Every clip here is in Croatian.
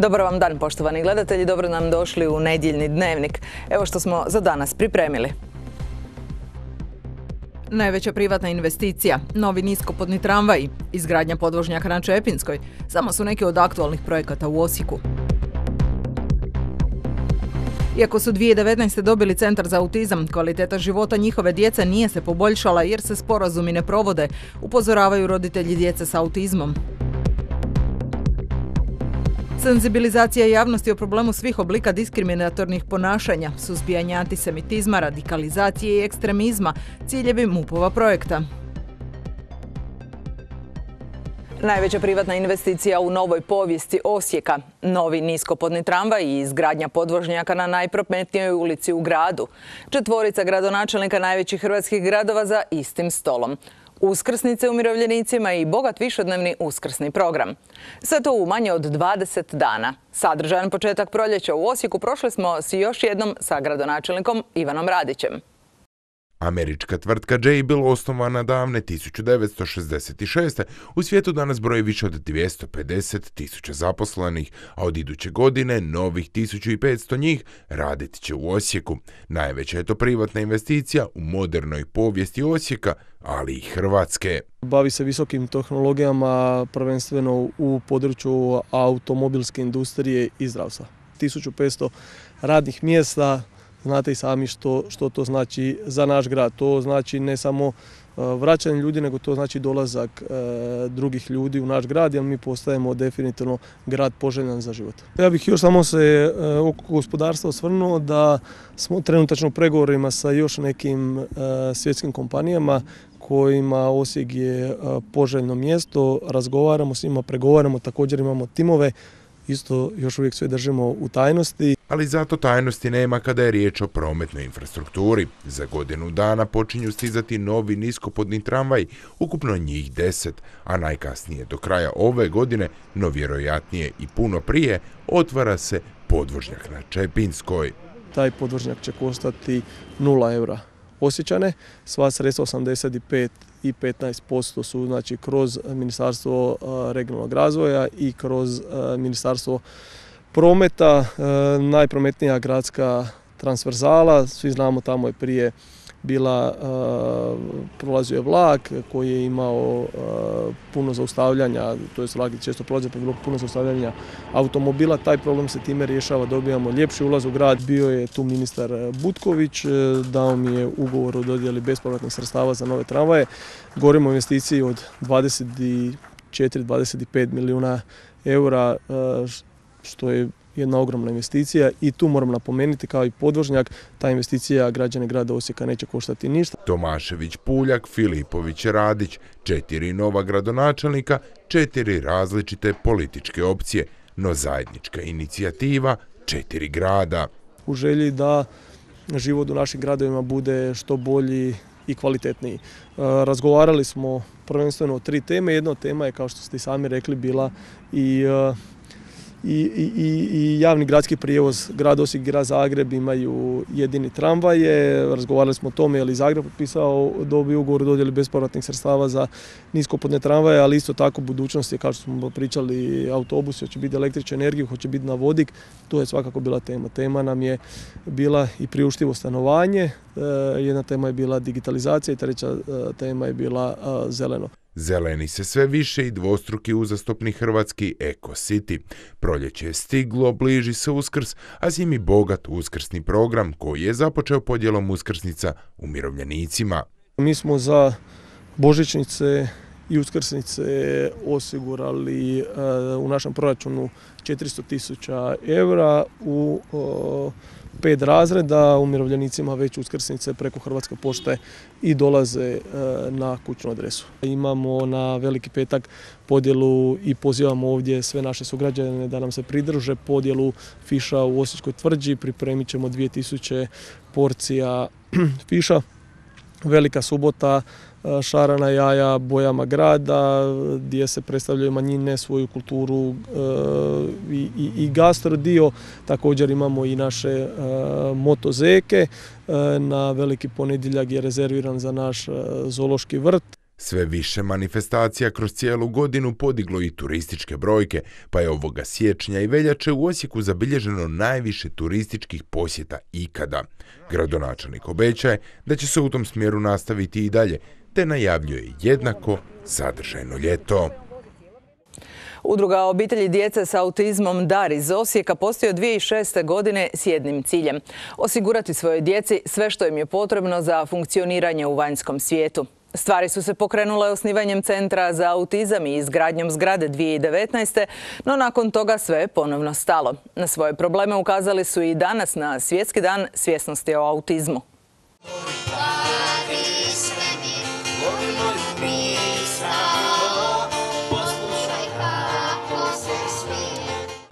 Dobar vam dan, poštovani gledatelji, dobro nam došli u nedjeljni dnevnik. Evo što smo za danas pripremili. Najveća privatna investicija, novi niskopodni tramvaji, izgradnja podvožnjaka na Čepinskoj, samo su neki od aktualnih projekata u Osijeku. Iako su 2019. dobili Centar za autizam, kvaliteta života njihove djece nije se poboljšala jer se sporazumi ne provode, upozoravaju roditelji djece s autizmom. Senzibilizacija javnosti o problemu svih oblika diskriminatornih ponašanja, suzbijanje antisemitizma, radikalizacije i ekstremizma, ciljevi MUP-ova projekta. Najveća privatna investicija u novoj povijesti Osijeka, novi niskopodni tramvaj i izgradnja podvožnjaka na najprometnijoj ulici u gradu. 4 gradonačelnika najvećih hrvatskih gradova za istim stolom. Uskrsnice umirovljenicima i bogat višednevni uskrsni program. Sve to u manje od 20 dana. Sadržajan početak proljeća u Osijeku prošli smo s još jednom sa gradonačelnikom Ivanom Radićem. Američka tvrtka Jabil, osnovana davne 1966. u svijetu danas broji više od 250.000 zaposlenih, a od iduće godine novih 1500 njih radit će u Osijeku. Najveća je to privatna investicija u modernoj povijesti Osijeka, ali i Hrvatske. Bavi se visokim tehnologijama, prvenstveno u području automobilske industrije i zdravstva. 1500 radnih mjesta. Znate i sami što to znači za naš grad. To znači ne samo vraćanje ljudi, nego to znači dolazak drugih ljudi u naš grad, jer mi postajemo definitivno grad poželjan za život. Ja bih još samo se oko gospodarstva osvrnuo da smo trenutačno u pregovorima sa još nekim svjetskim kompanijama kojima Osijek je poželjno mjesto. Razgovaramo s njima, pregovaramo, također imamo timove. Isto još uvijek sve držimo u tajnosti. Ali zato tajnosti nema kada je riječ o prometnoj infrastrukturi. Za godinu dana počinju stizati novi niskopodni tramvaj, ukupno njih 10, a najkasnije do kraja ove godine, no vjerojatnije i puno prije, otvara se podvožnjak na Čepinskoj. Taj podvožnjak će koštati 0 eura. Osjećane, sva sredstva 85 i 15% su znači kroz Ministarstvo regionalnog razvoja i kroz Ministarstvo prometa, najprometnija gradska transverzala. Svi znamo, tamo je prije prolazio je vlak koji je imao puno zaustavljanja, to je vlak često prolazi, pa je bilo puno zaustavljanja automobila. Taj problem se time rješava, dobijamo ljepši ulaz u grad. Bio je tu ministar Butković, dao mi je ugovor o dodjeli bespovratnih sredstava za nove tramvaje. Govorimo o investiciji od 24-25 milijuna eura, što je jedna ogromna investicija i tu moram napomenuti, kao i podvožnjak, ta investicija građane grada Osijeka neće koštati ništa. Tomašević, Puljak, Filipović, Radić, 4 nova gradonačelnika, 4 različite političke opcije, no zajednička inicijativa 4 grada. U želji da život u našim gradovima bude što bolji i kvalitetniji. Razgovarali smo prvenstveno o 3 teme. Jedna od tema je, kao što ste i sami rekli, bila i javni gradski prijevoz. Grad Osijek i grad Zagreb imaju jedini tramvaje. Razgovarali smo o tome je li Zagreb dobio ugovor o dodjeli bespovratnih sredstava za niskopodne tramvaje, ali isto tako budućnost je, kao što smo pričali, autobusi, hoće biti električna energija, hoće biti na vodik. To je svakako bila tema. Tema nam je bila i priuštivo stanovanje, jedna tema je bila digitalizacija i treća tema je bila zeleno. Zeleni se sve više i dvostruki uzastopni hrvatski Eko City. Proljeće je stiglo, bliži se Uskrs, a s njim i bogat uskrsni program koji je započeo podjelom uskrsnica umirovljenicima. Mi smo za božićnice i uskrsnice osigurali u našem proračunu 400.000 eura u 5 razreda. Umirovljenicima već uskrsnice preko Hrvatske pošte i dolaze na kućnu adresu. Imamo na Veliki petak podjelu i pozivamo ovdje sve naše sugrađane da nam se pridruže podjelu fiša u Osječkoj tvrđi. Pripremit ćemo 2000 porcija fiša. Velika subota, šarana jaja bojama grada, gdje se predstavljaju manjine, svoju kulturu i gastro dio. Također imamo i naše motozeke. Na Veliki ponedjeljak je rezerviran za naš zoološki vrt. Sve više manifestacija kroz cijelu godinu podiglo i turističke brojke, pa je ovoga siječnja i veljače u Osijeku zabilježeno najviše turističkih posjeta ikada. Gradonačelnik obećaje da će se u tom smjeru nastaviti i dalje, te najavljuje jednako sadržajno ljeto. Udruga obitelji djece s autizmom Dar iz Osijeka postoji od 2006. godine s jednim ciljem – osigurati svojoj djeci sve što im je potrebno za funkcioniranje u vanjskom svijetu. Stvari su se pokrenule osnivanjem Centra za autizam i izgradnjom zgrade 2019. no nakon toga sve je ponovno stalo. Na svoje probleme ukazali su i danas na Svjetski dan svjesnosti o autizmu.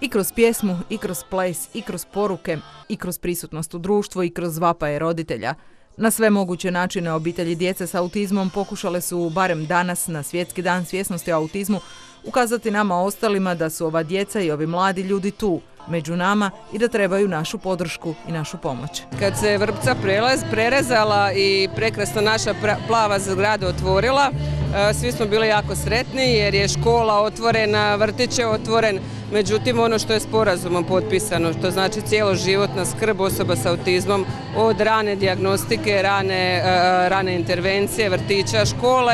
I kroz pjesmu, i kroz ples, i kroz poruke, i kroz prisutnost u društvu, i kroz vapaje roditelja. Na sve moguće načine obitelji djece s autizmom pokušale su, barem danas na Svjetski dan svjesnosti o autizmu, ukazati nama ostalima da su ova djeca i ovi mladi ljudi tu, među nama i da trebaju našu podršku i našu pomoć. Kad se vrpca prerezala i prekrasna naša plava zgrada otvorila, svi smo bili jako sretni jer je škola otvorena, vrtić je otvoren. Međutim, ono što je sporazumom potpisano, što znači cjeloživotna skrb osoba s autizmom od rane dijagnostike, rane intervencije, vrtića, škole,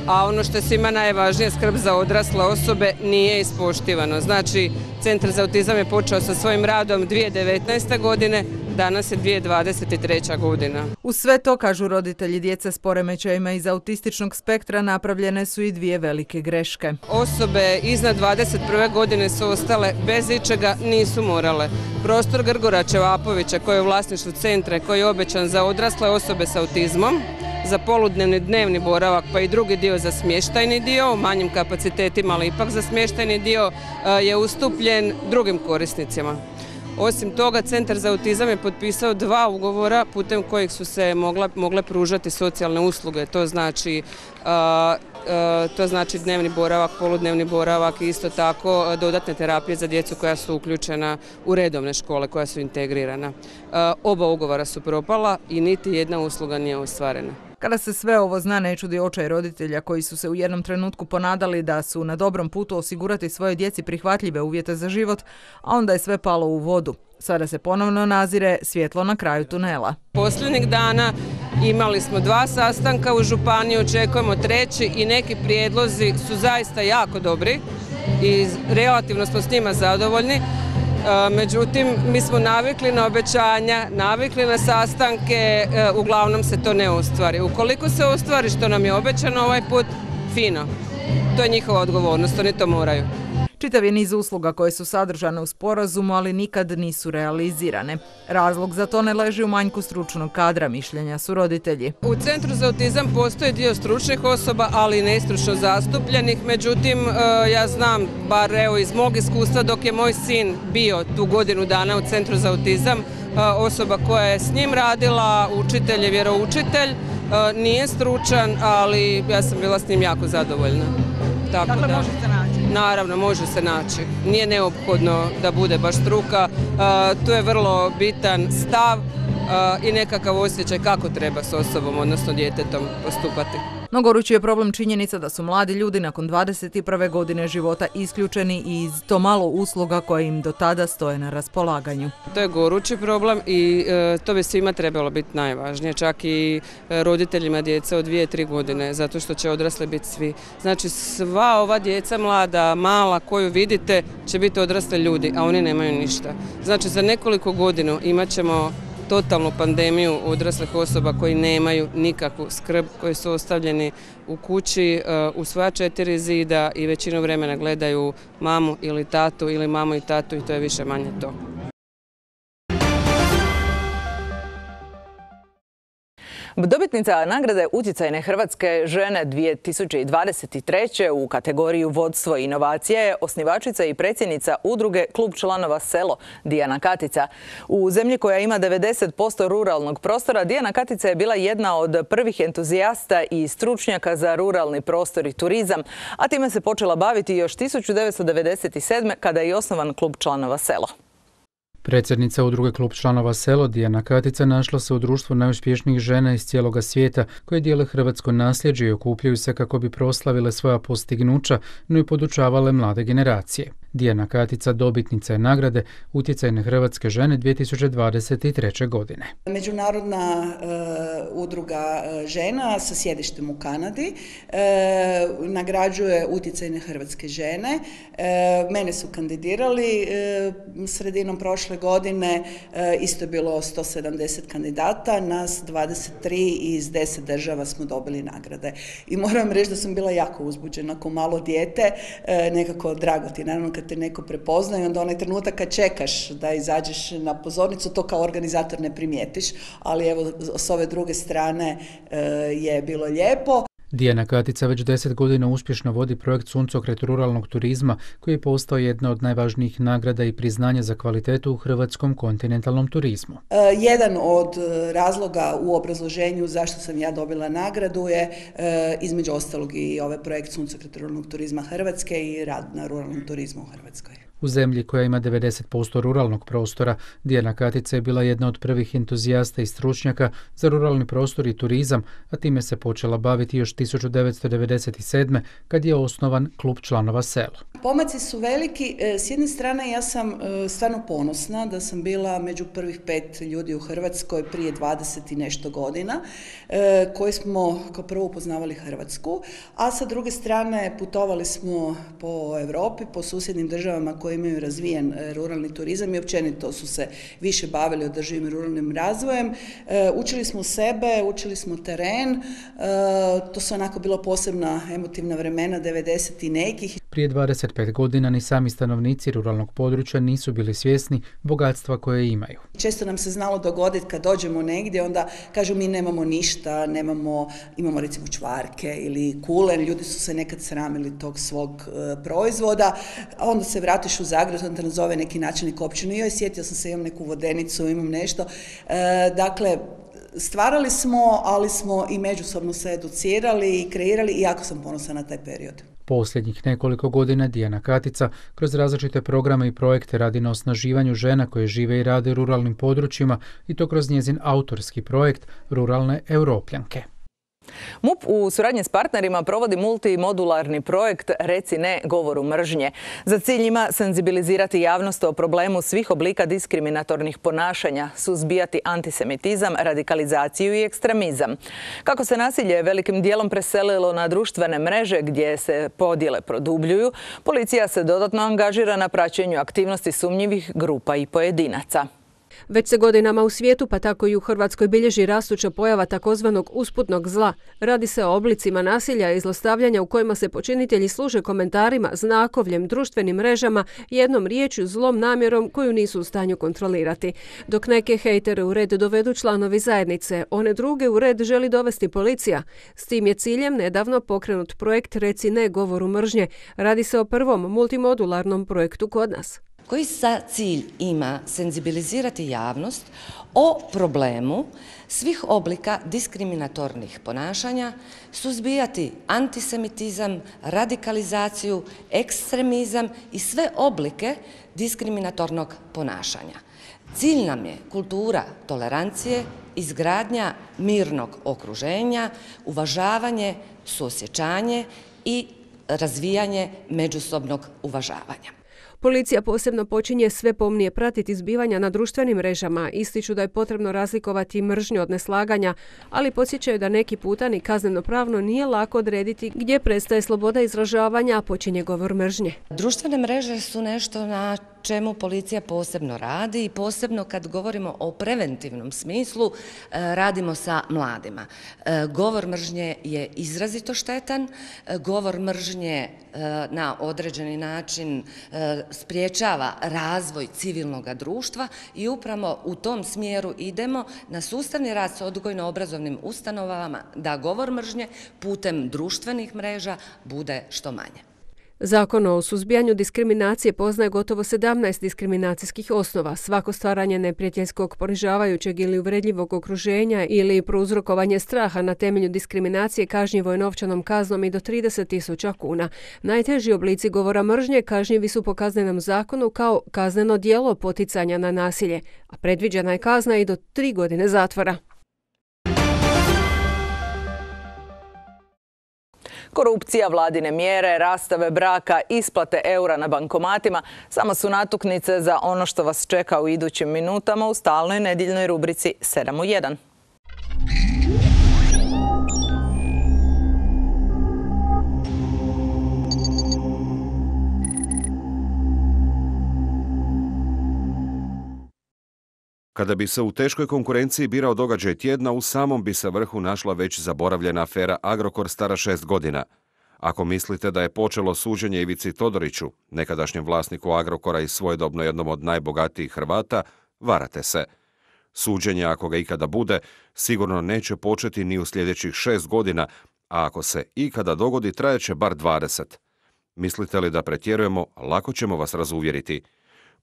a ono što je svima najvažnije, skrb za odrasle osobe, nije ispoštivano. Znači, Centar za autizam je počeo sa svojim radom 2019. godine, danas je 2023. godina. Uz sve to, kažu roditelji djece s poremećajima iz autističnog spektra, napravljene su i dvije velike greške. Osobe iznad 21. godine su ostale bez ičega, nisu morale. Prostor Grgora Čevapovića, koji je u vlasništvu centra, koji je obećan za odrasle osobe s autizmom, za poludnevni dnevni boravak, pa i drugi dio za smještajni dio, u manjim kapacitetima, ali ipak za smještajni dio, je ustupljen drugim korisnicima. Osim toga, Centar za autizam je potpisao 2 ugovora putem kojih su se mogle pružati socijalne usluge. To znači dnevni boravak, poludnevni boravak i isto tako dodatne terapije za djecu koja su uključena u redovne škole, koja su integrirana. Oba ugovora su propala i niti jedna usluga nije ostvarena. Kada se sve ovo zna, ne čudi očaj roditelja koji su se u jednom trenutku ponadali da su na dobrom putu osigurati svojoj djeci prihvatljive uvjete za život, a onda je sve palo u vodu. Sada se ponovno nazire svjetlo na kraju tunela. Posljednjih dana imali smo 2 sastanka u županiji, očekujemo 3. i neki prijedlozi su zaista jako dobri i relativno smo s njima zadovoljni. Međutim, mi smo navikli na obećanja, navikli na sastanke, uglavnom se to ne ostvari. Ukoliko se ostvari što nam je obećano ovaj put, fino. To je njihova odgovornost, oni to moraju. Čitav je niz usluga koje su sadržane u sporazumu, ali nikad nisu realizirane. Razlog za to ne leži u manjku stručnog kadra, mišljenja su roditelji. U Centru za autizam postoji dio stručnih osoba, ali i nestručno zastupljenih. Međutim, ja znam, bar evo iz mog iskustva, dok je moj sin bio tu godinu dana u Centru za autizam, osoba koja je s njim radila, učitelj je vjeroučitelj, nije stručan, ali ja sam bila s njim jako zadovoljna. Dakle, može se naći? Naravno, može se naći. Nije neophodno da bude baš struka. Tu je vrlo bitan stav i nekakav osjećaj kako treba s osobom, odnosno djetetom, postupati. No gorući je problem činjenica da su mladi ljudi nakon 21. godine života isključeni iz to malo usluga koje im do tada stoje na raspolaganju. To je gorući problem i to bi svima trebalo biti najvažnije, čak i roditeljima djece od 2-3 godine, zato što će odrasli biti svi. Znači sva ova djeca mlada, mala koju vidite će biti odrasli ljudi, a oni nemaju ništa. Znači za nekoliko godina imat ćemo totalnu pandemiju odraslih osoba koji nemaju nikakvu skrb, koji su ostavljeni u kući u svoja 4 zida i većinu vremena gledaju mamu ili tatu ili mamu i tatu i to je više manje to. Dobitnica nagrade Utjecajne hrvatske žene 2023. u kategoriju vodstvo i inovacije je osnivačica i predsjednica udruge Klub članova Selo, Dijana Katica. U zemlji koja ima 90% ruralnog prostora, Dijana Katica je bila jedna od prvih entuzijasta i stručnjaka za ruralni prostor i turizam, a time se počela baviti još 1997. kada je osnovan Klub članova Selo. Predsjednica udruge Klub članova Selo Dijana Katica našla se u društvu najuspješnijih žena iz cijeloga svijeta koje dijele hrvatsko nasljeđe i okupljaju se kako bi proslavile svoja postignuća, no i podučavale mlade generacije. Dijana Katica dobitnica je nagrade Utjecajne hrvatske žene 2023. godine. Međunarodna udruga žena sa sjedištem u Kanadi nagrađuje Utjecajne hrvatske žene. Mene su kandidirali sredinom prošle godine, isto je bilo 170 kandidata, nas 23 iz 10 država smo dobili nagrade. I moram reći da sam bila jako uzbuđena kao malo dijete, nekako drago ti, naravno kad te neko prepozna i onda onaj trenutak kad čekaš da izađeš na pozornicu, to kao organizator ne primijetiš, ali evo s ove druge strane je bilo lijepo. Dijana Katica već 10 godina uspješno vodi projekt Suncokret ruralnog turizma koji je postao jedna od najvažnijih nagrada i priznanja za kvalitetu u hrvatskom kontinentalnom turizmu. Jedan od razloga u obrazloženju zašto sam ja dobila nagradu je između ostalog i ovaj projekt Suncokret ruralnog turizma Hrvatske i rad na ruralnom turizmu u Hrvatskoj. U zemlji koja ima 90% ruralnog prostora, Dijana Katica je bila jedna od prvih entuzijasta i stručnjaka za ruralni prostor i turizam, a time se počela baviti još 1997. kad je osnovan Klub članova Selo. Pomaci su veliki. S jedne strane ja sam stvarno ponosna da sam bila među prvih 5 ljudi u Hrvatskoj prije 20 i nešto godina koji smo kao prvo upoznavali Hrvatsku, a sa druge strane putovali smo po Europi, po susjednim državama koje imaju razvijen ruralni turizam i općenito su se više bavili održivim ruralnim razvojem. Učili smo sebe, učili smo teren, to su onako bilo posebna emotivna vremena 90 i nekih. Prije 25 godina ni sami stanovnici ruralnog područja nisu bili svjesni bogatstva koje imaju. Često nam se znalo dogoditi kad dođemo negdje, onda kažu mi nemamo ništa, imamo recimo čvarke ili kulen, ljudi su se nekad sramili tog svog proizvoda, a onda se vratiš u Zagreb, onda te nazove neki načelnik općine, joj sjetio sam se, imam neku vodenicu, imam nešto. Dakle, stvarali smo, ali smo i međusobno se educirali i kreirali i jako sam ponosna na taj period. Posljednjih nekoliko godina Dijana Katica kroz različite programe i projekte radi na osnaživanju žena koje žive i rade u ruralnim područjima i to kroz njezin autorski projekt Ruralne Europljanke. MUP u suradnji s partnerima provodi multimodularni projekt Reci ne govoru mržnje. Za cilj ima senzibilizirati javnost o problemu svih oblika diskriminatornih ponašanja, suzbijati antisemitizam, radikalizaciju i ekstremizam. Kako se nasilje velikim dijelom preselilo na društvene mreže gdje se podjele produbljuju, policija se dodatno angažira na praćenju aktivnosti sumnjivih grupa i pojedinaca. Već se godinama u svijetu, pa tako i u Hrvatskoj, bilježi rastuća pojava takozvanog usputnog zla. Radi se o oblicima nasilja i zlostavljanja u kojima se počinitelji služe komentarima, znakovljem, društvenim mrežama, jednom riječju, zlom namjerom koju nisu u stanju kontrolirati. Dok neke hejtere u red dovedu članovi zajednice, one druge u red želi dovesti policija. S tim je ciljem nedavno pokrenut projekt Reci ne govoru mržnje. Radi se o prvom multimodularnom projektu kod nas. Koji za cilj ima senzibilizirati javnost o problemu svih oblika diskriminatornih ponašanja, suzbijati antisemitizam, radikalizaciju, ekstremizam i sve oblike diskriminatornog ponašanja. Cilj nam je kultura tolerancije, izgradnja mirnog okruženja, uvažavanje, suosjećanje i razvijanje međusobnog uvažavanja. Policija posebno počinje sve pomnije pratiti zbivanja na društvenim mrežama, ističu da je potrebno razlikovati mržnju od neslaganja, ali podsjećaju da neki puta ni kazneno-pravno nije lako odrediti gdje prestaje sloboda izražavanja, a počinje govor mržnje. Društvene mreže su nešto na čemu policija posebno radi i posebno kad govorimo o preventivnom smislu radimo sa mladima. Govor mržnje je izrazito štetan, govor mržnje na određeni način spriječava razvoj civilnog društva i upravo u tom smjeru idemo na sustavni rad sa odgojno-obrazovnim ustanovama da govor mržnje putem društvenih mreža bude što manje. Zakon o suzbijanju diskriminacije poznaje gotovo 17 diskriminacijskih osnova. Svako stvaranje neprijateljskog, ponižavajućeg ili uvredljivog okruženja ili prouzrokovanje straha na temelju diskriminacije kažnjivo je novčanom kaznom i do 30.000 kuna. Najteži oblici govora mržnje kažnjivi su po Kaznenom zakonu kao kazneno djelo poticanja na nasilje, a predviđena je kazna i do 3 godine zatvora. Korupcija, vladine mjere, rastave braka, isplate eura na bankomatima samo su natuknice za ono što vas čeka u idućim minutama u stalnoj nedjeljnoj rubrici 7 u 1. Kada bi se u teškoj konkurenciji birao događaj tjedna, u samom bi se vrhu našla već zaboravljena afera Agrokor stara 6 godina. Ako mislite da je počelo suđenje Ivici Todoriću, nekadašnjem vlasniku Agrokora i svojedobno jednom od najbogatijih Hrvata, varate se. Suđenje, ako ga ikada bude, sigurno neće početi ni u sljedećih 6 godina, a ako se ikada dogodi, trajeće bar 20. Mislite li da pretjerujemo, lako ćemo vas razuvjeriti.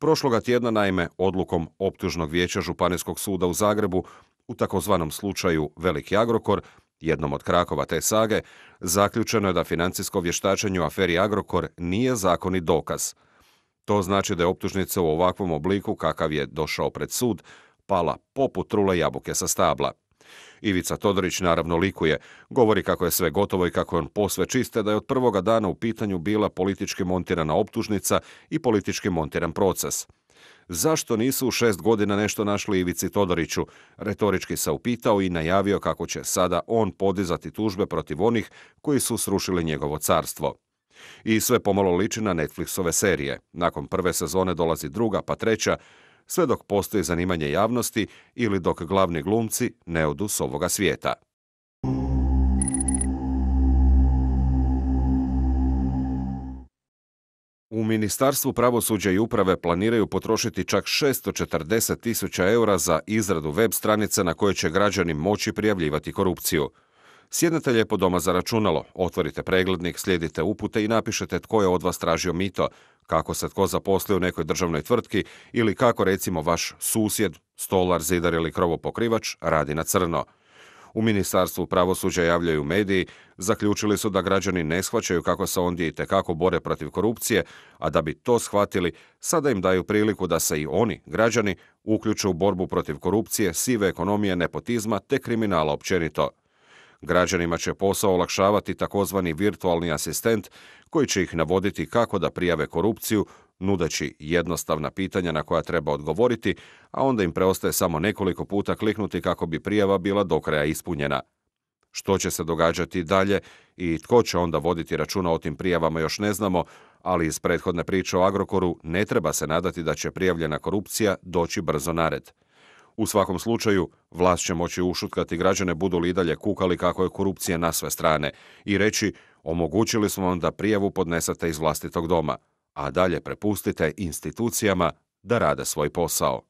Prošloga tjedna, naime, odlukom Optužnog vijeća Županijskog suda u Zagrebu u takozvanom slučaju Veliki Agrokor, jednom od krakova te sage, zaključeno je da financijsko vještačenje u aferi Agrokor nije zakonit dokaz. To znači da je optužnica u ovakvom obliku, kakav je došao pred sud, pala poput trule jabuke sa stabla. Ivica Todorić naravno likuje, govori kako je sve gotovo i kako je on posve čiste, da je od prvoga dana u pitanju bila politički montirana optužnica i politički montiran proces. Zašto nisu u 6 godina nešto našli Ivici Todoriću? Retorički se upitao i najavio kako će sada on podizati tužbe protiv onih koji su srušili njegovo carstvo. I sve pomalo liči na Netflixove serije. Nakon prve sezone dolazi druga, pa treća, sve dok postoji zanimanje javnosti ili dok glavni glumci ne odu s ovoga svijeta. U Ministarstvu pravosuđa i uprave planiraju potrošiti čak 640.000 eura za izradu web stranice na kojoj će građani moći prijavljivati korupciju. Sjednete lijepo doma za računalo, otvorite preglednik, slijedite upute i napišete tko je od vas tražio mito, kako se tko zaposlio u nekoj državnoj tvrtki ili kako recimo vaš susjed, stolar, zidar ili krovopokrivač radi na crno. U Ministarstvu pravosuđa, javljaju mediji, zaključili su da građani ne shvaćaju kako se ondje itekako bore protiv korupcije, a da bi to shvatili, sada im daju priliku da se i oni, građani, uključe u borbu protiv korupcije, sive ekonomije, nepotizma te kriminala općenito. Građanima će posao olakšavati takozvani virtualni asistent koji će ih navoditi kako da prijave korupciju, nudeći jednostavna pitanja na koja treba odgovoriti, a onda im preostaje samo nekoliko puta kliknuti kako bi prijava bila do kraja ispunjena. Što će se događati dalje i tko će onda voditi računa o tim prijavama još ne znamo, ali iz prethodne priče o Agrokoru ne treba se nadati da će prijavljena korupcija doći brzo na red. U svakom slučaju, vlast će moći ušutkati građane budu li i dalje kukali kako je korupcija na sve strane i reći omogućili smo vam da prijavu podnesete iz vlastitog doma, a dalje prepustite institucijama da rade svoj posao.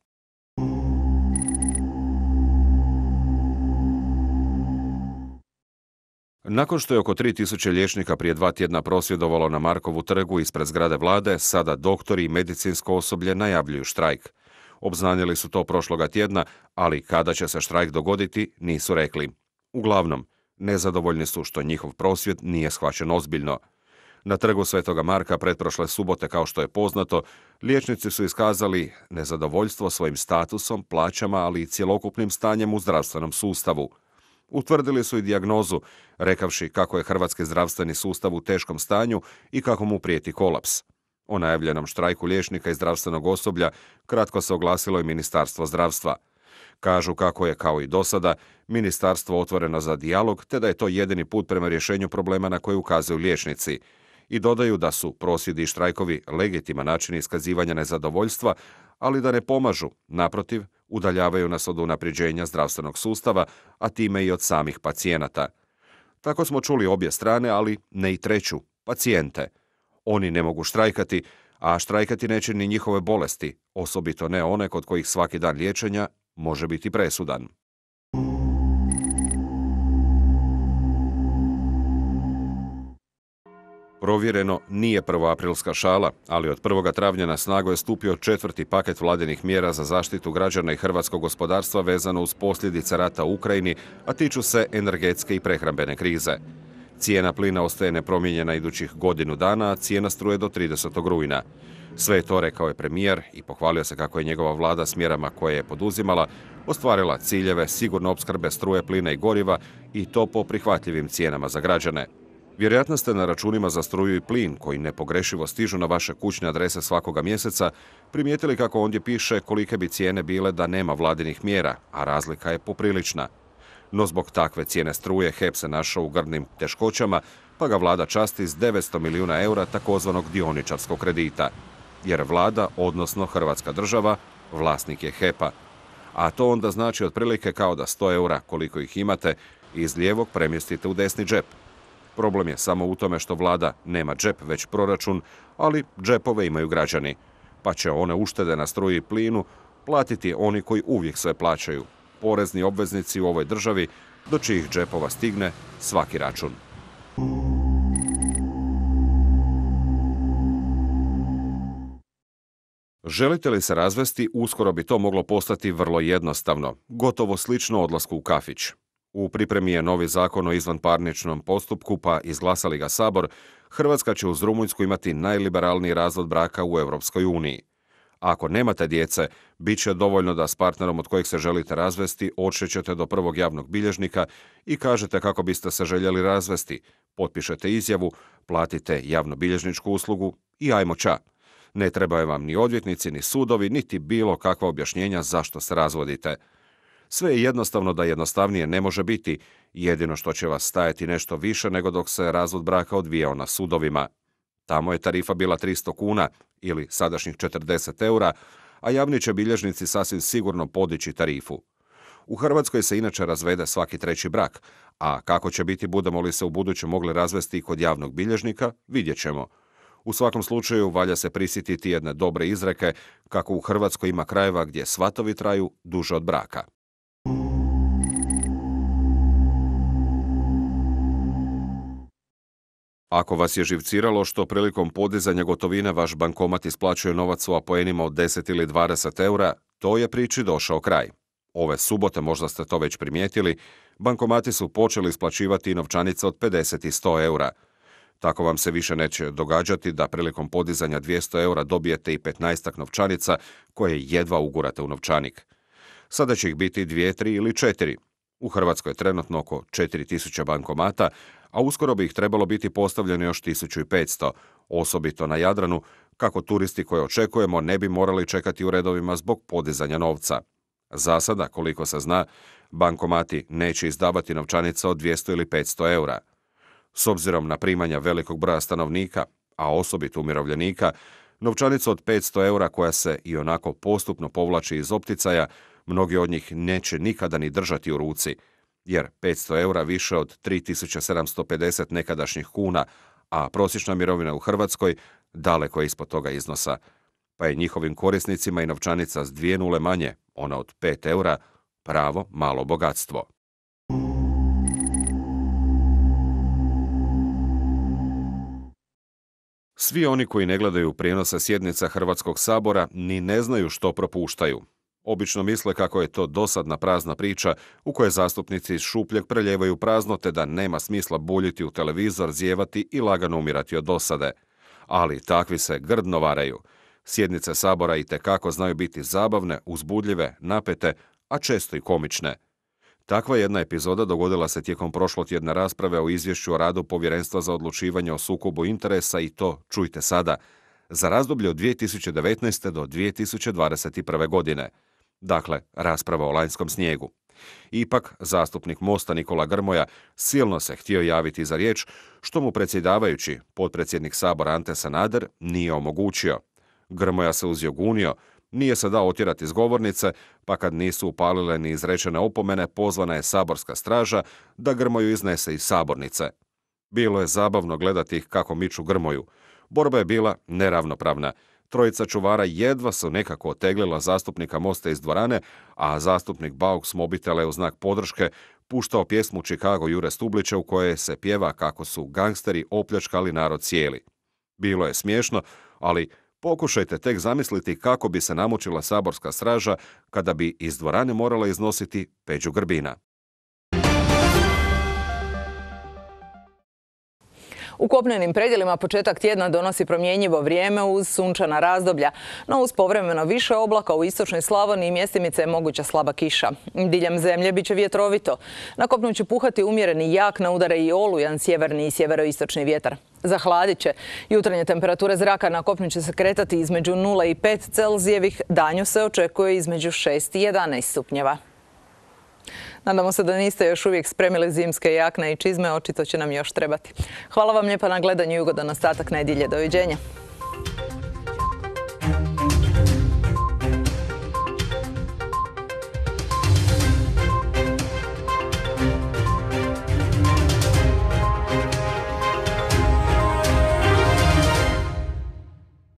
Nakon što je oko 3000 liječnika prije 2 tjedna prosvjedovalo na Markovu trgu ispred zgrade vlade, sada doktori i medicinsko osoblje najavljuju štrajk. Obznanili su to prošloga tjedna, ali kada će se štrajk dogoditi, nisu rekli. Uglavnom, nezadovoljni su što njihov prosvjed nije shvaćen ozbiljno. Na trgu Svetoga Marka pretprošle subote, kao što je poznato, liječnici su iskazali nezadovoljstvo svojim statusom, plaćama, ali i cjelokupnim stanjem u zdravstvenom sustavu. Utvrdili su i dijagnozu, rekavši kako je hrvatski zdravstveni sustav u teškom stanju i kako mu prijeti kolaps. O najavljenom štrajku liječnika i zdravstvenog osoblja kratko se oglasilo i Ministarstvo zdravstva. Kažu kako je, kao i dosada, ministarstvo otvoreno za dijalog, te da je to jedini put prema rješenju problema na koje ukazuju liječnici. I dodaju da su prosvjedi i štrajkovi legitiman način iskazivanja nezadovoljstva, ali da ne pomažu, naprotiv, udaljavaju nas od unapređenja zdravstvenog sustava, a time i od samih pacijenata. Tako smo čuli obje strane, ali ne i treću, pacijente. Oni ne mogu štrajkati, a štrajkati neće ni njihove bolesti, osobito ne one kod kojih svaki dan liječenja može biti presudan. Provjereno nije prvoaprilska šala, ali od 1. travnja na snagu je stupio 4. paket vladinih mjera za zaštitu građana i hrvatskog gospodarstva vezano uz posljedice rata u Ukrajini, a tiču se energetske i prehrambene krize. Cijena plina ostaje nepromijenjena idućih godinu dana, a cijena struje do 30. rujna. Sve je to rekao je premijer i pohvalio se kako je njegova vlada s mjerama koje je poduzimala ostvarila ciljeve sigurne opskrbe struje, plina i goriva i to po prihvatljivim cijenama za građane. Vjerojatno ste na računima za struju i plin, koji nepogrešivo stižu na vaše kućne adrese svakoga mjeseca, primijetili kako ondje piše kolike bi cijene bile da nema vladinih mjera, a razlika je poprilična. No zbog takve cijene struje HEP se našao u grdnim teškoćama, pa ga vlada časti s 900 milijuna eura takozvanog dioničarskog kredita. Jer vlada, odnosno Hrvatska država, vlasnik je HEP-a. A to onda znači otprilike kao da 100 eura, koliko ih imate, iz lijevog premjestite u desni džep. Problem je samo u tome što vlada nema džep, već proračun, ali džepove imaju građani. Pa će one uštede na struji i plinu platiti oni koji uvijek sve plaćaju. Porezni obveznici u ovoj državi, do čijih džepova stigne svaki račun. Želite li se razvesti, uskoro bi to moglo postati vrlo jednostavno, gotovo slično odlasku u kafić. U pripremi je novi zakon o izvanparničnom postupku, pa izglasali ga Sabor, Hrvatska će uz Rumunjsku imati najliberalniji razvod braka u Europskoj uniji. Ako nemate djece, bit će dovoljno da s partnerom od kojeg se želite razvesti odšećete do prvog javnog bilježnika i kažete kako biste se željeli razvesti, potpišete izjavu, platite javnobilježničku uslugu i ajmo ča. Ne trebaju vam ni odvjetnici, ni sudovi, niti bilo kakva objašnjenja zašto se razvodite. Sve je jednostavno da jednostavnije ne može biti, jedino što će vas stajati nešto više nego dok se razvod braka odvijao na sudovima. Tamo je tarifa bila 300 kuna ili sadašnjih 40 eura, a javni će bilježnici sasvim sigurno podići tarifu. U Hrvatskoj se inače razvede svaki treći brak, a kako će biti budemo li se u buduće mogli razvesti i kod javnog bilježnika, vidjet ćemo. U svakom slučaju valja se prisjetiti jedne dobre izreke kako u Hrvatskoj ima krajeva gdje svatovi traju duže od braka. Ako vas je živciralo što prilikom podizanja gotovine vaš bankomat isplaćuje novac u apoenima od 10 ili 20 eura, to je priči došao kraj. Ove subote, možda ste to već primijetili, bankomati su počeli isplaćivati novčanice od 50 i 100 eura. Tako vam se više neće događati da prilikom podizanja 200 eura dobijete i 15 novčanica koje jedva ugurate u novčanik. Sada će ih biti 2, 3 ili 4. U Hrvatskoj je trenutno oko 4000 bankomata, a uskoro bi ih trebalo biti postavljeno još 1500, osobito na Jadranu, kako turisti koje očekujemo ne bi morali čekati u redovima zbog podizanja novca. Za sada, koliko se zna, bankomati neće izdavati novčanica od 200 ili 500 eura. S obzirom na primanja velikog broja stanovnika, a osobito umirovljenika, novčanica od 500 eura koja se i onako postupno povlači iz opticaja, mnogi od njih neće nikada ni držati u ruci, jer 500 eura više od 3750 nekadašnjih kuna, a prosječna mirovina u Hrvatskoj daleko je ispod toga iznosa, pa je njihovim korisnicima i novčanica s 2 nule manje, ona od 5 eura, pravo malo bogatstvo. Svi oni koji ne gledaju prijenose sjednica Hrvatskog sabora ni ne znaju što propuštaju. Obično misle kako je to dosadna prazna priča u kojoj zastupnici iz šupljeg preljevaju prazno te da nema smisla buljiti u televizor, zijevati i lagano umirati od dosade. Ali takvi se grdno varaju. Sjednice sabora itekako znaju biti zabavne, uzbudljive, napete, a često i komične. Takva jedna epizoda dogodila se tijekom prošlotjedne rasprave o izvješću o radu Povjerenstva za odlučivanje o sukobu interesa i to, čujte sada, za razdoblje od 2019. do 2021. godine. Dakle, rasprava o lanjskom snijegu. Ipak, zastupnik Mosta Nikola Grmoja silno se htio javiti za riječ, što mu predsjedavajući, potpredsjednik Sabora Ante Sanader, nije omogućio. Grmoja se uzjogunio, nije se dao otjerati iz govornice, pa kad nisu upalile ni izrečene opomene, pozvana je saborska straža da Grmoju iznese iz sabornice. Bilo je zabavno gledati ih kako miču Grmoju. Borba je bila neravnopravna. Trojica čuvara jedva su nekako oteglila zastupnika Mosta iz dvorane, a zastupnik Bauk s mobitela je u znak podrške puštao pjesmu Chicago Jure Stublića u kojoj se pjeva kako su gangsteri opljačkali narod cijeli. Bilo je smiješno, ali pokušajte tek zamisliti kako bi se namučila saborska straža kada bi iz dvorane morala iznositi Peđu Grbina. U kopnenim predjelima početak tjedna donosi promjenjivo vrijeme uz sunčana razdoblja, no uz povremeno više oblaka u istočnoj Slavoniji i mjestimice je moguća slaba kiša. Diljem zemlje bit će vjetrovito. Na kopnu će puhati umjereni jak, na udare i olujan sjeverni i sjeveroistočni vjetar. Zahladit će. Jutarnje temperature zraka na kopnu će se kretati između 0 i 5 Celzijevih, danju se očekuje između 6 i 11 stupnjeva. Nadamo se da niste još uvijek spremili zimske jakne i čizme, očito će nam još trebati. Hvala vam lijepa na gledanju i ugodan ostatak nedjelje. Doviđenja.